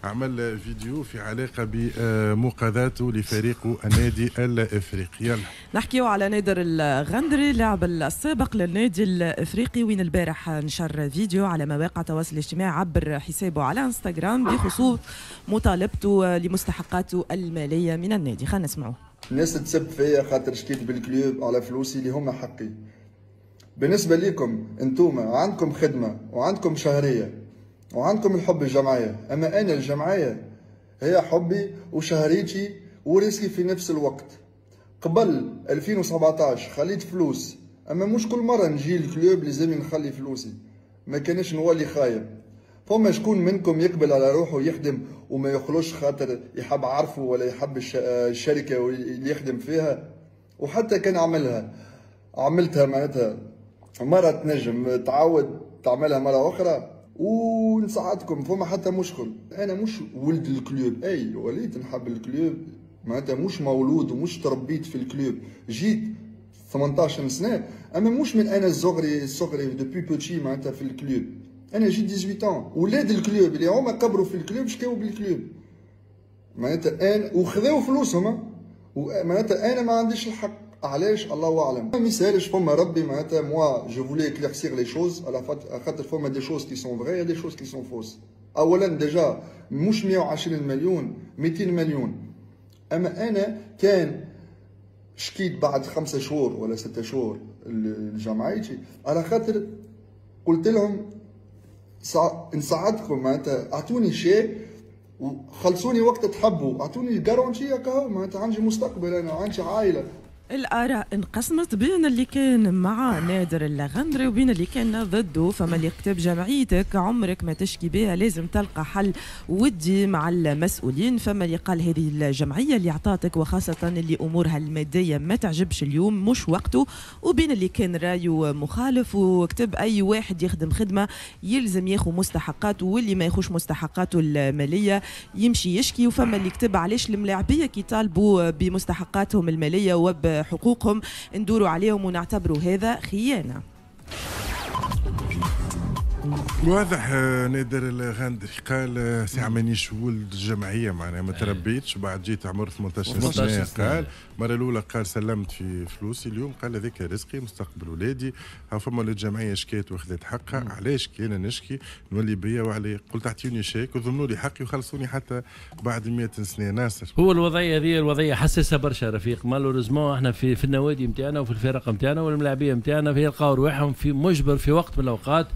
عمل فيديو في علاقة بمقاضاته لفريقه النادي الافريقي. يلا نحكيو على نادر الغندري، اللاعب السابق للنادي الافريقي، وين البارح نشر فيديو على مواقع التواصل الاجتماعي عبر حسابه على انستغرام بخصوص مطالبته لمستحقاته المالية من النادي. خلينا نسمعوه. الناس تسب فيا خاطر شكيت بال club على فلوسي اللي هما حقي. بالنسبة لكم انتوما عندكم خدمة وعندكم شهرية وعندكم الحب الجمعية، أما أنا الجمعية هي حبي وشهريتي ورزقي في نفس الوقت. قبل 2017 خليت فلوس، أما مش كل مرة نجي ال club لازم نخلي فلوسي، ما كانش نولي خايب. فما شكون منكم يقبل على روحه يخدم وما يخلوش خاطر يحب عرفه ولا يحب الشركة اللي يخدم فيها؟ وحتى كان عملتها معناتها مرة تنجم تعاود تعملها مرة أخرى ونساعدكم، فما حتى مشكل. انا مش ولد ال club، اي وليت نحب ال club معناتها، مش مولود ومش تربيت في ال club، جيت 18 سنة، اما مش من انا صغري depuis petit معناتها في ال club. انا جيت 18 ans، ولاد ال club اللي هما كبروا في ال club شكاو بال club معناتها انا وخذاو فلوسهم، معناتها انا ما عنديش الحق. علاش؟ الله اعلم. ما يسالش، فما ربي معناتها. moi je voulais éclaircir les choses على خاطر فما des choses qui sont vraies، des choses qui sont fausses. اولا déjà مش 120 مليون، 200 مليون. اما انا كان شكيت بعد 5 شهور ولا 6 شهور لجمعيتي على خاطر قلت لهم نساعدكم معناتها، اعطوني شيء وخلصوني وقت تحبوا، اعطوني garantie هكا معناتها، عندي مستقبل انا وعندي عائلة. الآراء انقسمت بين اللي كان مع نادر الغندري وبين اللي كان ضده. فما اللي كتب جمعيتك عمرك ما تشكي بها، لازم تلقى حل ودي مع المسؤولين. فما اللي قال هذه الجمعية اللي عطاتك وخاصة اللي أمورها المادية ما تعجبش اليوم مش وقته. وبين اللي كان رايه مخالف وكتب أي واحد يخدم خدمة يلزم ياخو مستحقاته، واللي ما ياخوش مستحقاته المالية يمشي يشكي. وفما اللي كتب علاش الملاعبية كي طالبوا بمستحقاتهم المالية وب حقوقهم ندوروا عليهم ونعتبروا هذا خيانة. واضح نادر الغندري قال ساعة مانيش ولد الجمعية، معناها ما تربيتش، بعد جيت عمر 18 سنة. قال المرة الأولى قال سلمت في فلوسي، اليوم قال هذاك رزقي مستقبل ولادي. ها فما ولاد الجمعية شكات وخذت حقها، علاش كي أنا نشكي نولي بيا وعلي؟ قلت اعطيوني شيك وضمنوا لي حقي وخلصوني حتى بعد 100 سنة. ناصر، هو الوضعية هذه الوضعية حساسة برشا رفيق. malheureusement احنا في النوادي نتاعنا وفي الفرق نتاعنا والملاعبية نتاعنا يلقاو رواحهم في مجبر في وقت من الأوقات.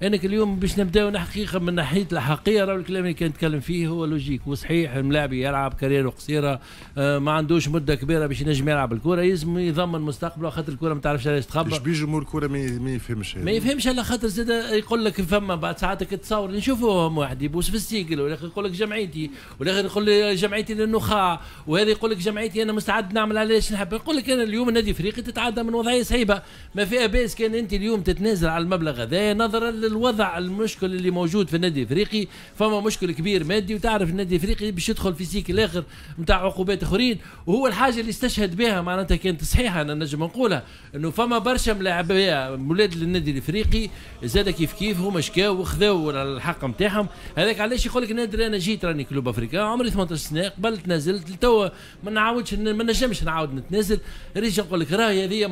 انك اليوم باش نبداو حقيقة من ناحية الحقيقة، راهو الكلام اللي كان نتكلم فيه هو logique وصحيح. الملاعب يلعب carrière قصيرة، ما عندوش مده كبيرة باش ينجم يلعب الكره، يلزم يضمن مستقبله خاطر الكره ما تعرفش علاش تخبى. ايش بيه جمهور الكره ما يفهمش ما يفهمش على خاطر زاد يقول لك فما بعد ساعات تصور نشوفوهم واحد يبوس في السيكل، والاخر يقول لك جمعيتي، والاخر يقول لي جمعيتي للنخاع، وهذا يقول لك جمعيتي انا مستعد نعمل علاش نحب. يقول لك انا اليوم النادي الافريقي تتعدى من وضعية صعيبة، ما فيها باس كان انت اليوم تتنازل على المبلغ هذا نظرا للوضع المشكل اللي موجود في النادي الافريقي. فما مشكل كبير مادي، وتعرف النادي الافريقي باش يدخل في cycle اخر نتاع عقوبات اخرين. وهو الحاجة اللي استشهد بها معناتها كانت صحيحه، انا نجم نقولها انه فما برشا ملاعبيه ولاد للنادي الافريقي زاد كيف كيف هما شكاو وخذاو الحق نتاعهم. هذاك علاش يقول لك نادر انا جيت راني Club Africain عمري 18 سنة قبل تنازلت لتوا ما نعاودش، ما نجمش نعاود نتنازل. ريج نقول لك راهي هذه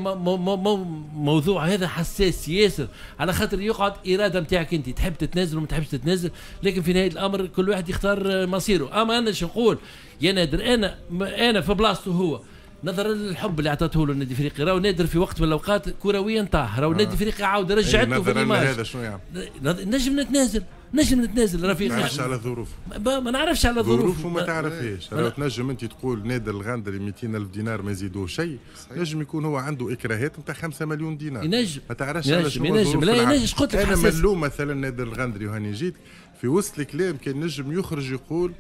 موضوع هذا حساس ياسر على خاطر يقعد اراده نتاعك انت تحب تتنازل وما تحبش تتنازل، لكن في نهاية الامر كل واحد يختار مصيره. اما انا شو نقول يا نادر، انا في بلاصته هو نظرا للحب اللي عطاته له النادي الافريقي، راهو نادر في وقت من الاوقات كرويا طاح، راهو النادي الافريقي عاود رجعته في ال image. هذا شنو يعمل؟ نجم نتنازل، نجم نتنازل رفيق. ما نعرفش على ظروف، ما نعرفش على ظروف وما تعرفهاش. راهو تنجم انت تقول نادر الغندري 200 ألف دينار ما يزيدوه شيء، نجم يكون هو عنده اكراهات نتاع 5 مليون دينار. ينجم، ما تعرفش على شنو ينجم. لا ينجم، قلت لك انا ملوم مثلا نادر الغندري وهاني جيت في وسط الكلام كان نجم يخرج يقول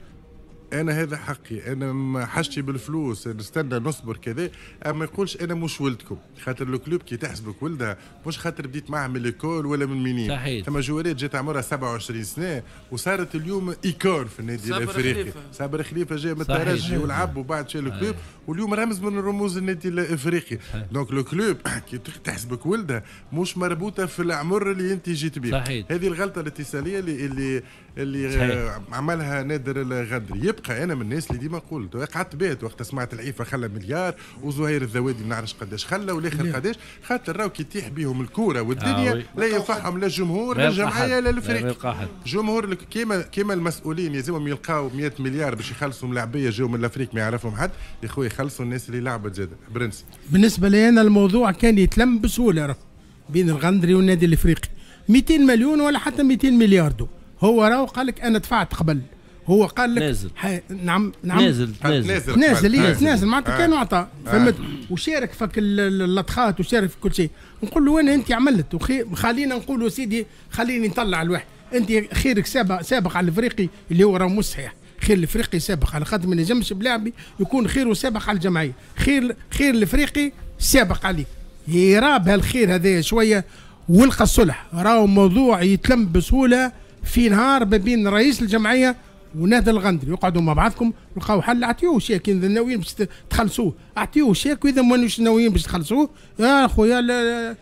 انا هذا حقي، انا ما حاجتي بالفلوس، نستنى نصبر كذا، اما ما يقولش انا مش ولدكم، خاطر ال club كي تحسبك ولدها مش خاطر بديت معاه من l'école ولا من minimes. صحيح. ثم جوارات جات عمرها 27 سنة وصارت اليوم icône في النادي الافريقي. صابر خليفة جاي من الترجي ولعب وبعد شال ال club واليوم رمز من رموز النادي الافريقي. donc le club كي تحسبك ولدها مش مربوطة في العمر اللي انت جيت به. صحيح. هذه الغلطة الاتصاليه اللي اللي صحيح. عملها نادر الغندري. يبقى انا من الناس اللي ديما قلت قعدت بيت وقت سمعت العيفه خلى مليار، وزهير الذوادي ما نعرفش قداش خلى، والاخر قداش، خاطر راهو كي يطيح بيهم الكورة والدنيا لا ينفعهم لا الجمهور لا الجمعية لا الفريق. جمهور كيما المسؤولين يلزمهم يلقاو 100 مليار باش يخلصوا ملاعبيه جاو من l'Afrique ما يعرفهم حد، يا خويا يخلصوا الناس اللي لعبت زاد. برنس بالنسبة لي انا الموضوع كان يتلم بسهولة بين الغندري والنادي الافريقي، 200 مليون ولا حتى 200 مليار دو. هو راهو قال لك انا دفعت قبل، هو قال لك نازل. نعم نعم نازل نازل نازل نازل معناتها كان عطى فهمت، وشارك فك اللطخات وشارك في كل شيء. نقول له انا انت عملت خلينا نقولوا سيدي خليني نطلع الواحد، انت خيرك سابق على الافريقي اللي هو راه مش صحيح. خير الافريقي سابق على خاطر ما نجمش بلاعبي يكون خيره سابق على الجمعية، خير الافريقي سابق عليك. يراب هالخير هذا شوية ولقى الصلح، راهو موضوع يتلم بسهولة في نهار ما بين رئيس الجمعية ونادر الغندري، يقعدوا مع بعضكم لقاو حل. اعطيوه شيك اذا ناويين باش تخلصوه، اعطيوه شيك، واذا مانوش ناويين باش تخلصوه يا خويا لا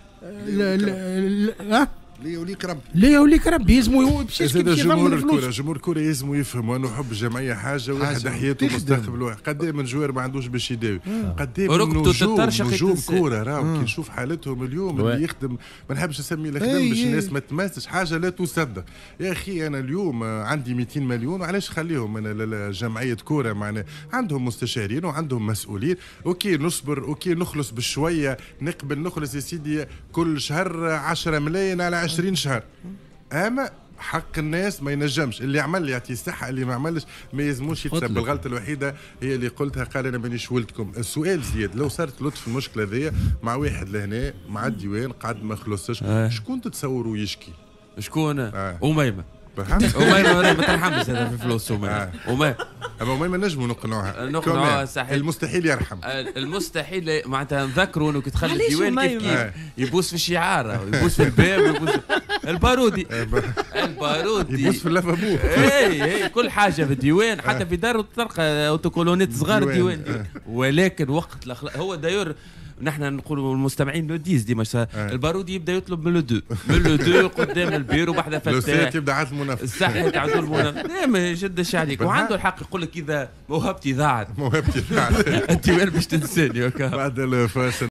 لا ليه وليك ربي، ليه وليك ربي يلزمو باش جمهور الكره، جمهور الكره يلزمو يفهم انه حب الجمعية حاجة، واحد حياته مستقبله، قد من joueur ما عندوش باش يداوي، قد من نجوم كورة راهو كي نشوف حالتهم اليوم اللي يخدم، ما نحبش نسمي الخدم باش الناس ما تماسش، حاجة لا تصدق. يا اخي انا اليوم عندي 200 مليون، علاش خليهم انا جمعية كورة؟ معنا عندهم مستشارين وعندهم مسؤولين، OK نصبر، OK نخلص بشوية، نقبل نخلص يا سيدي كل شهر 10 ملايين على 20 شهر، اما حق الناس ما ينجمش. اللي عمل يعطيه الصحة، اللي ما عملش ما يلزموش يتسب. الغلطة الوحيدة هي اللي قلتها، قال انا مانيش ولدكم. السؤال زياد، لو صارت لطف المشكلة ذي مع واحد لهنا مع الديوان قعد ما خلصش، شكون تتصوروا يشكي؟ شكون؟ أميمة. أميمة ما ترحمش هذا في فلوس أميمة. أميمة أما أميمة نجموا نقنعوها، نقنعوها صحيح. المستحيل يرحم، المستحيل معناتها نذكروا انه كي دخل الديوان كيف كيف يبوس في الشعار، يبوس في الباب، يبوس البارودي، البارودي يبوس في اللافابو، اي كل حاجة في الديوان، حتى في داره تلقى autocollantات صغار الديوان. ولكن وقت هو d'ailleurs نحن نقولوا المستمعين le dix ديما البارودي يبدا يطلب من le deux، من le deux قدام البيرو بحذا فتاح، يبدا عاد المنافس، صحيح عنده المنافس، لا ما يشدش عليك، وعنده الحق يقول لك اذا موهبتي ضاعت، موهبتي ضاعت انت وين باش تنساني. بعد الفاصل.